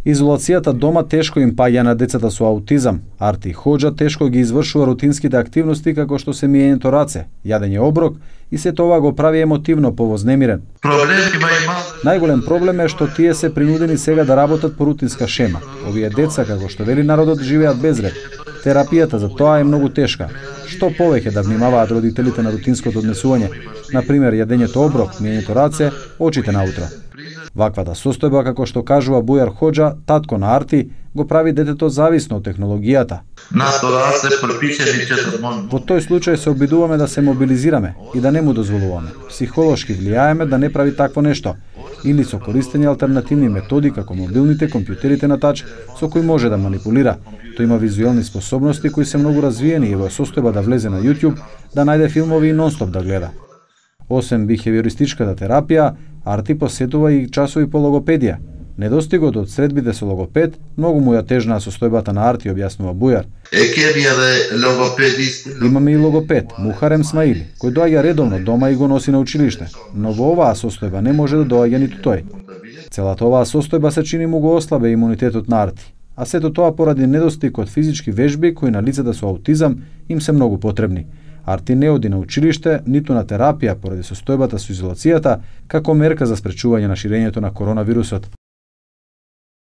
Изолацијата дома тешко им паѓа на децата со аутизам. Арти Хоџа тешко ги извршува рутинските активности како што се миењето раце, јадење оброк и се тоа го прави емотивно повознемирен. Најголем проблем е што тие се принудени сега да работат по рутинска шема. Овие деца, како што вели народот, живеат без ред. Терапијата за тоа е многу тешка. Што повеќе да внимаваат родителите на рутинското однесување, например јадењето оброк, миењето раце, очите наутро. Ваквата состојба, како што кажува Бујар Хоџа, татко на Арти, го прави детето зависно од технологијата. Во тој случај се обидуваме да се мобилизираме и да не му дозволуваме. Психолошки влијаеме да не прави такво нешто, или со користење алтернативни методи како мобилните компјутерите на тач со кои може да манипулира. Тој има визуелни способности кои се многу развиени и во состојба да влезе на YouTube, да најде филмови и нонстоп да гледа. Освен бихевиористичката терапија, Арти посетува и часови по логопедија. Недостигот од средбите со логопед многу му ја тежнаа состојбата на Арти, објаснува Бујар. Имаме и логопед, Мухарем Смаили, кој доаѓа редовно дома и го носи на училиште, но во оваа состојба не може да доаѓа ниту тој. Целата оваа состојба се чини му го ослабе имунитетот на Арти, а сето тоа поради недостиг од физички вежби кои на лицата со аутизам им се многу потребни. Арти не оди на училиште, ниту на терапија поради состојбата со изолацијата, како мерка за спречување на ширењето на коронавирусот.